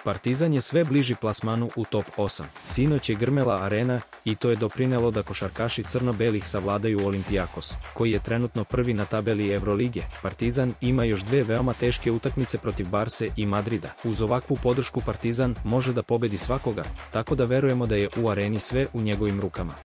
Partizan je sve bliži plasmanu u top 8. Sinoć je grmela Arena i to je doprinelo da košarkaši crno-belih savladaju Olympiakos, koji je trenutno prvi na tabeli Evrolige. Partizan ima još dve veoma teške utakmice protiv Barse i Madrida. Uz ovakvu podršku Partizan može da pobedi svakoga, tako da verujemo da je u Areni sve u njegovim rukama.